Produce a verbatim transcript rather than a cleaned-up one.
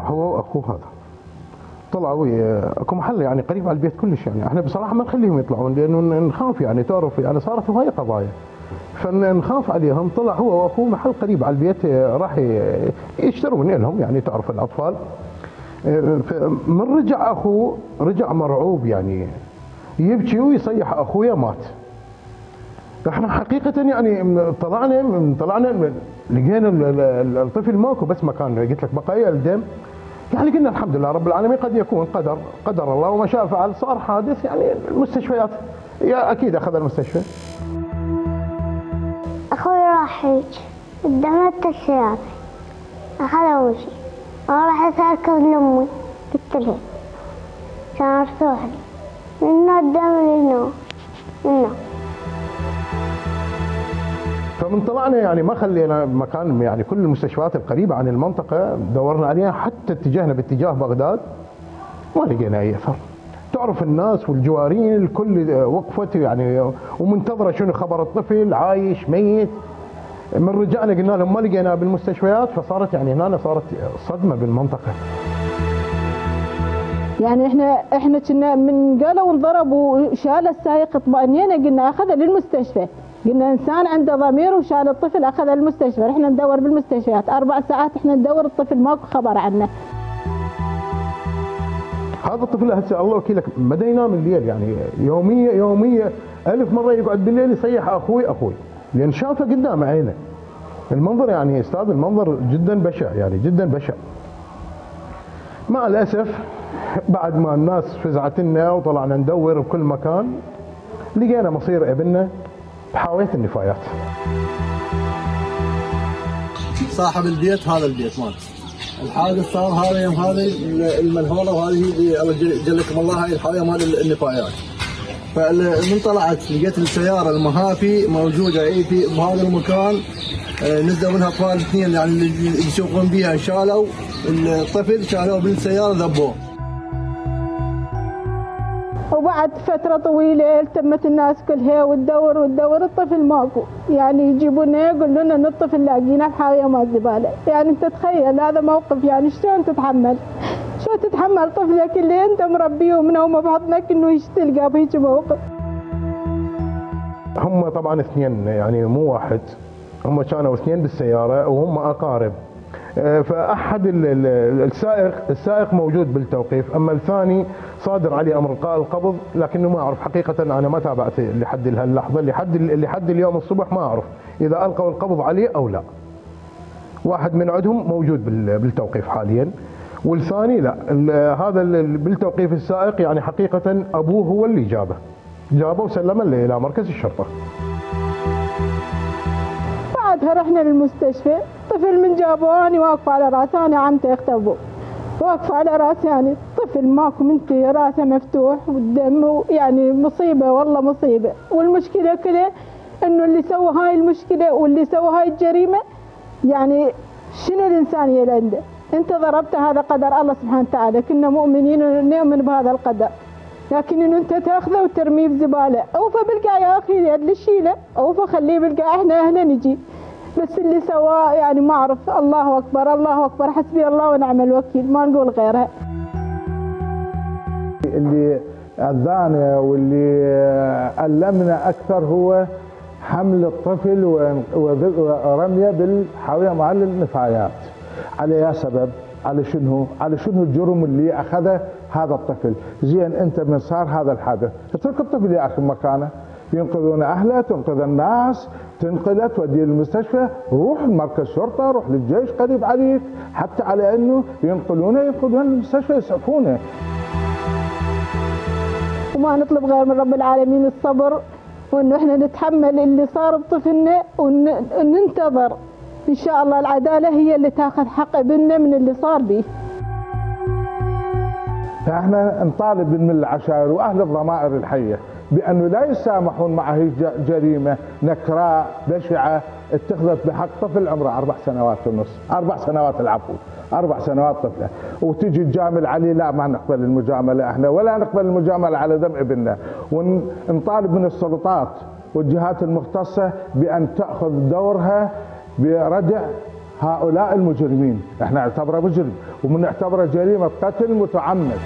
هو واخوه هذا، طلعوا اكو محل يعني قريب على البيت كلش، يعني احنا بصراحه ما نخليهم يطلعون لانه نخاف، يعني تعرف يعني صارت هواي قضايا فنخاف عليهم. طلع هو واخوه محل قريب على البيت راح يشترون لهم، يعني تعرف الاطفال. من رجع اخوه رجع مرعوب، يعني يبكي ويصيح اخويا مات. احنا حقيقه يعني طلعنا طلعنا لقينا الطفل ماكو بس مكان، قلت لك بقايا الدم. يعني قلنا الحمد لله رب العالمين، قد يكون قدر قدر الله وما شاء فعل. صار حادث يعني المستشفيات، يا اكيد اخذ المستشفى. اخوي راح هيك قدامت السيارة اخذ وجهي، انا راح اركب لامي قلت لها كان ارتاح لي من قدام لهنا هنا. فمن طلعنا يعني ما خلينا مكان، يعني كل المستشفيات القريبه عن المنطقه دورنا عليها، حتى اتجهنا باتجاه بغداد ما لقينا اي اثر. تعرف الناس والجوارين الكل وقفت يعني ومنتظره شنو خبر الطفل عايش ميت. من رجعنا قلنا لهم ما لقيناه بالمستشفيات، فصارت يعني هنا صارت صدمه بالمنطقه. يعني احنا احنا كنا من قالوا انضرب وشال السائق اطمئنينا، قلنا اخذه للمستشفى، قلنا انسان عنده ضمير وشال الطفل اخذه للمستشفى. احنا ندور بالمستشفيات اربع ساعات، احنا ندور الطفل ماكو خبر عنه. هذا الطفل هسه الله وكيلك بدا ينام الليل، يعني يوميا يوميا ألف مره يقعد بالليل يصيح اخوي اخوي، لان شافه قدام عينه. المنظر يعني استاذ المنظر جدا بشع، يعني جدا بشع. مع الاسف بعد ما الناس فزعت لنا وطلعنا ندور بكل مكان لقينا مصير ابننا بحاويه النفايات. صاحب البيت هذا البيت مات، الحادث صار هذا يوم هذا المنهوله، وهذه الله جلكم الله هاي الحاويه مال النفايات. فمن طلعت لقيت السياره المهافي موجوده اي في بهذا المكان، نزلوا منها اطفال اثنين يعني اللي يسوقون بها، شالوا الطفل شالوه بالسياره ذبوه. وبعد فترة طويلة التمت الناس كلها وتدور وتدور الطفل ماكو، يعني يجيبونا يقولوا لنا ان الطفل لاقيناه بحاوية مال زبالة. يعني انت تخيل هذا موقف، يعني شلون تتحمل؟ شلون تتحمل طفلك اللي انت مربيه ومن هو بحضنك انه تلقاه بهيك موقف؟ هم طبعا اثنين، يعني مو واحد، هم كانوا اثنين بالسيارة وهم اقارب. فاحد السائق السائق موجود بالتوقيف، اما الثاني صادر عليه امر القاء القبض، لكنه ما اعرف حقيقه، انا ما تابعت لحد هاللحظه، لحد لحد اليوم الصبح ما اعرف اذا القوا القبض عليه او لا. واحد من عندهم موجود بالتوقيف حاليا، والثاني لا. هذا بالتوقيف السائق يعني حقيقه ابوه هو اللي جابه جابه وسلمه الى مركز الشرطه. بعدها رحنا للمستشفى، طفل من جابوه انا واقفه على راسه، انا عمتي اخت ابوه واقفه على راسي، يعني طفل ماكو منتهي راسه مفتوح والدم، يعني مصيبه والله مصيبه. والمشكله كلها انه اللي سوى هاي المشكله واللي سوى هاي الجريمه، يعني شنو الانسانيه اللي عنده؟ انت ضربت، هذا قدر الله سبحانه وتعالى، كنا مؤمنين ونؤمن بهذا القدر، لكن انه انت تاخذه وترميه بزباله. اوفى بالقاع يا اخي اللي شيله، اوفى خليه بالقاع، احنا اهله نجي. بس اللي سواه يعني ما اعرف، الله اكبر الله اكبر، حسبي الله ونعم الوكيل، ما نقول غيرها. اللي اذانا واللي المنا اكثر هو حمل الطفل ورميه بالحاويه مع النفايات. على اي سبب؟ على شنو؟ على شنو الجرم اللي اخذه هذا الطفل؟ زين انت من صار هذا الحدث اترك الطفل يا اخي مكانه، ينقذون اهله، تنقذ الناس، تنقله توديه للمستشفى، روح مركز شرطه، روح للجيش قريب عليك، حتى على انه ينقلونه ينقذونه للمستشفى يسعفونه. وما نطلب غير من رب العالمين الصبر، وانه احنا نتحمل اللي صار بطفلنا وننتظر ان شاء الله العداله هي اللي تاخذ حق ابننا من اللي صار به. فاحنا نطالب من العشائر واهل الضمائر الحيه بانه لا يسامحون مع هي جريمه نكراء بشعه اتخذت بحق طفل عمره اربع سنوات ونص، اربع سنوات العفو، اربع سنوات طفله، وتجي تجامل عليه. لا ما نقبل المجامله احنا، ولا نقبل المجامله على دم ابننا، ونطالب من السلطات والجهات المختصه بان تاخذ دورها بردع هؤلاء المجرمين، احنا نعتبره مجرم وبنعتبره جريمه قتل متعمد.